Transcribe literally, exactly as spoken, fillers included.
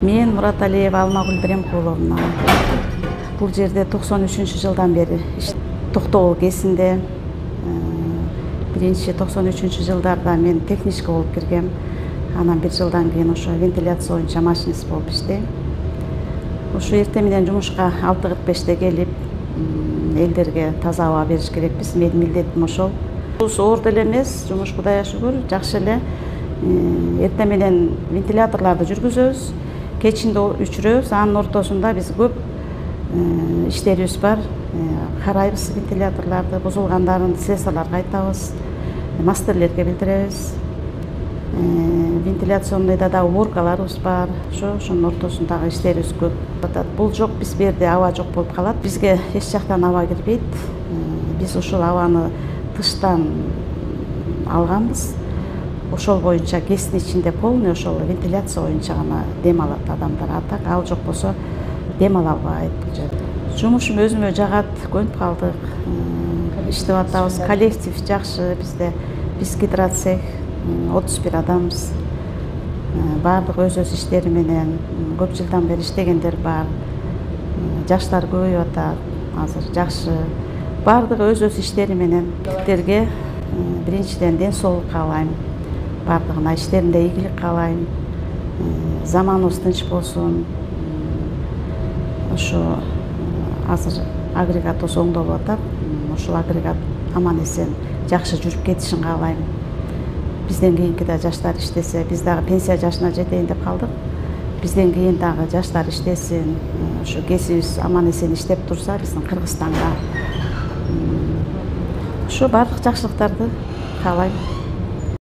Мен Мураталиева Алмагүл Биремкуловна. Бул жерде токсон үчүнчү жылдан бери Токтогул КЭСинде биринчи токсон үчүнчү жылдарда мен техничка болуп киргем. Анан бир жылдан кийин ошо вентиляция боюнча машинист болуп иштейм. Ушу эртең менен жумушка алты кырк беште келип, элдерге таза аба бериш керекпиз. Менин милдетим ошол. Бул оор деле эмес, жумуш Кудайга шүгүр, жакшы эле. Эртең менен вентиляторлорду жүргүзөбүз, кечинде өчүрөбүз. Анын ортосунда биз көп иштерибиз бар. Карайбыз вентиляторлорду, бузулгандарын слесарларга айтабыз, мастерлерге билдиребиз. Вентиляционныйда да уборкаларыбыз бар. Ошо ошонун ортосундагы иштерибиз көп. Бул жок, биз берде аба жок болуп калат. Бизге эч жактан аба кирбейт. Биз ушул абаны тыштан алганбыз. Ошол боюнча КЭСтин ичинде полный ошол вентиляция боюнча гана дем алат адамдар. А так ал жок болсо дем ала албайт бул жерде. Жумушум өзүмө жагат, көнүп калдык. Иштеп атабыз. Коллектив жакшы бизде. Биз гидроцех отуз бир адамбыз. Баардыгы өз өз иштери менен көп жылдан бери иштегендер бар. Жаштар көбөйүп атат. Азыр жакшы. Баардыгы өз өз иштери менен. Тилерге биринчиден ден соолук каалайм. Баардыгына иштеринде ийгилик каалайм. Заманыбыз тынч болсун. Ошо азыр агрегат осо оңдолуп атат. Ошол агрегат аман эсен жакшы жүрүп кетишин каалайм. Бизден кийинки да жаштар иштесе, биз дагы пенсия жашына жетейин деп калдык. Бизден кийин дагы жаштар иштесин, ошо кесибиз аман эсен иштеп турса, биздин Кыргызстанга ошо баардык жакшылыктарды каалайм.